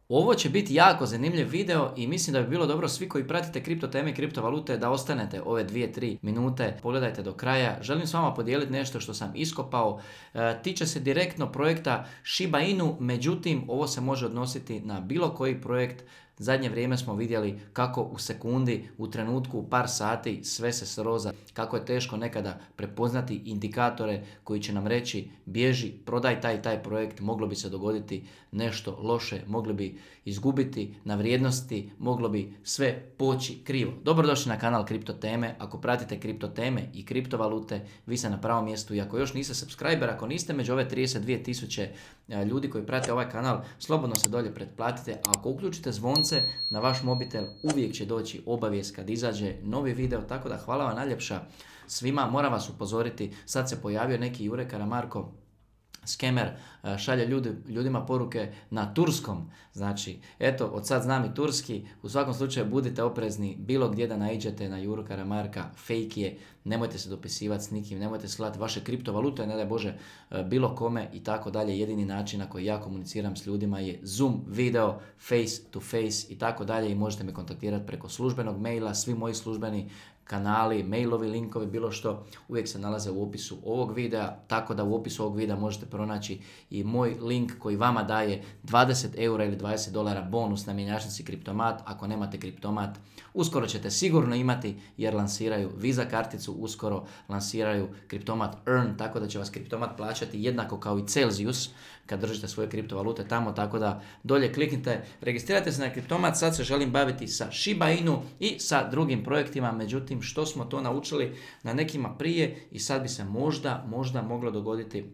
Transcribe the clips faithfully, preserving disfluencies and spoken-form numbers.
Ovo će biti jako zanimljiv video i mislim da bi bilo dobro svi koji pratite kripto teme i kriptovalute da ostanete ove dvije tri minute, pogledajte do kraja. Želim s vama podijeliti nešto što sam iskopao. E, tiče se direktno projekta Shiba Inu, međutim ovo se može odnositi na bilo koji projekt. Zadnje vrijeme smo vidjeli kako u sekundi, u trenutku, u par sati sve se sroza, kako je teško nekada prepoznati indikatore koji će nam reći bježi, prodaj taj taj projekt, moglo bi se dogoditi nešto loše, mogli bi izgubiti na vrijednosti, moglo bi sve poći krivo. Dobrodošli na kanal Kripto teme. Ako pratite kripto teme i kriptovalute, vi ste na pravom mjestu i ako još niste subscriber, ako niste među ove trideset dvije tisuće ljudi koji prate ovaj kanal, slobodno se dolje pretplatite, a ako uključite zvonce na vaš mobitel, uvijek će doći obavijest kad izađe novi video, tako da hvala vam najljepša svima. Moram vas upozoriti, sad se pojavio neki Jure Karamarko, skemer, šalje ljudi, ljudima poruke na turskom. Znači, eto, od sad znam i turski. U svakom slučaju budite oprezni bilo gdje da naiđete na Juru Karamarka, fake je, nemojte se dopisivati s nikim, nemojte slati vaše kriptovalute, ne daj Bože, bilo kome i tako dalje. Jedini način na koji ja komuniciram s ljudima je Zoom video, face to face i tako dalje i možete me kontaktirati preko službenog maila. Svi moji službeni kanali, mailovi, linkovi, bilo što, uvijek se nalaze u opisu ovog videa, tako da u opisu ovog videa možete pronaći i moj link koji vama daje dvadeset eura ili dvadeset dolara bonus na mjenjačnici Kriptomat. Ako nemate Kriptomat, uskoro ćete sigurno imati jer lansiraju Visa karticu, uskoro lansiraju Kriptomat Earn, tako da će vas Kriptomat plaćati jednako kao i Celsius kad držite svoje kriptovalute tamo, tako da dolje kliknite, registrirajte se na Kriptomat. Sad se želim baviti sa Shiba Inu i sa drugim projektima, međutim što smo to naučili na nekima prije i sad bi se možda, možda moglo dogoditi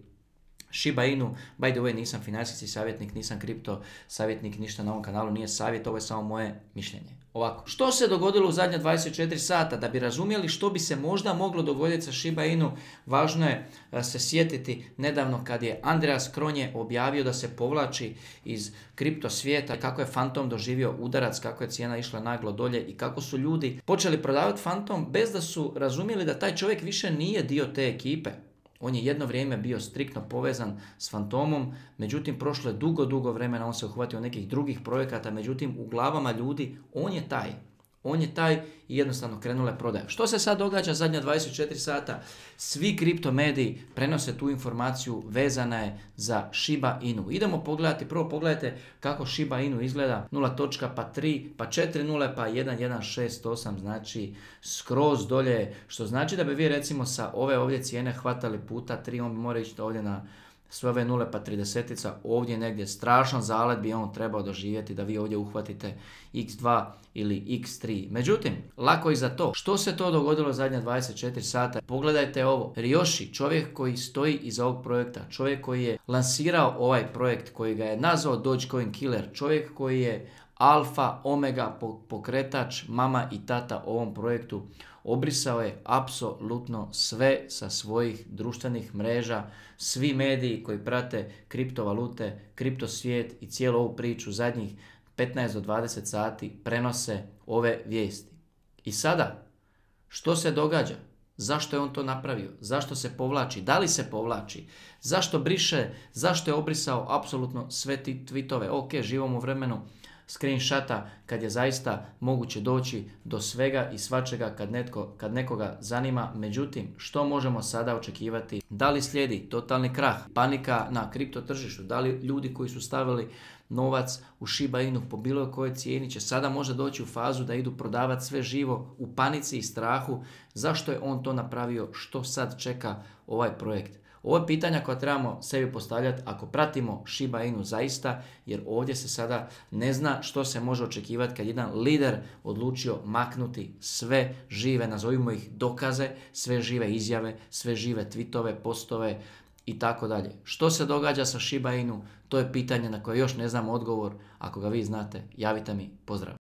Shiba Inu. By the way, nisam financijski savjetnik, nisam kripto savjetnik, ništa na ovom kanalu nije savjet, ovo je samo moje mišljenje. Ovako, što se dogodilo u zadnje dvadeset četiri sata? Da bi razumjeli što bi se možda moglo dogoditi sa Shiba Inu, važno je se sjetiti nedavno kad je Andreas Kronje objavio da se povlači iz kripto svijeta, kako je Fantom doživio udarac, kako je cijena išla naglo dolje i kako su ljudi počeli prodavati Fantom bez da su razumjeli da taj čovjek više nije dio te ekipe. On je jedno vrijeme bio striktno povezan s Fantomom, međutim prošlo je dugo, dugo vremena, on se uhvatio nekih drugih projekata, međutim u glavama ljudi on je taj. On je taj i jednostavno krenule prodaje. Što se sad događa zadnja dvadeset četiri sata? Svi kripto mediji prenose tu informaciju, vezana je za Shiba Inu. Idemo pogledati, prvo pogledajte kako Shiba Inu izgleda, nula točka, pa tri, pa četiri nule, pa jedan jedan šest osam, znači skroz dolje, što znači da bi vi recimo sa ove ovdje cijene hvatali puta tri, on bi mora ići ovdje na sve ove nule pa tridesetica, ovdje negdje strašan zalet bi on trebao doživjeti da vi ovdje uhvatite iks dva ili iks tri. Međutim, lako i za to. Što se to dogodilo zadnja dvadeset četiri sata? Pogledajte ovo. Ryoshi, čovjek koji stoji iza ovog projekta, čovjek koji je lansirao ovaj projekt, koji ga je nazvao Dogecoin Killer, čovjek koji je alfa, omega, pokretač, mama i tata ovom projektu, obrisao je apsolutno sve sa svojih društvenih mreža. Svi mediji koji prate kriptovalute, kripto svijet i cijelu ovu priču zadnjih petnaest do dvadeset sati prenose ove vijesti. I sada, što se događa? Zašto je on to napravio? Zašto se povlači? Da li se povlači? Zašto briše? Zašto je obrisao apsolutno sve ti tweetove? Ok, živimo u vremenu screenshota kad je zaista moguće doći do svega i svačega kad, netko, kad nekoga zanima. Međutim, što možemo sada očekivati? Da li slijedi totalni krah, panika na kripto tržištu? Da li ljudi koji su stavili novac u Shiba Inu po bilo kojoj cijeni će sada možda doći u fazu da idu prodavati sve živo u panici i strahu? Zašto je on to napravio? Što sad čeka ovaj projekt? Ovo je pitanja koja trebamo sebi postavljati ako pratimo Shiba Inu zaista, jer ovdje se sada ne zna što se može očekivati kad jedan lider odlučio maknuti sve žive, nazovimo ih dokaze, sve žive izjave, sve žive tweetove, postove i tako dalje. Što se događa sa Shiba Inu? To je pitanje na koje još ne znamo odgovor. Ako ga vi znate, javite mi. Pozdrav!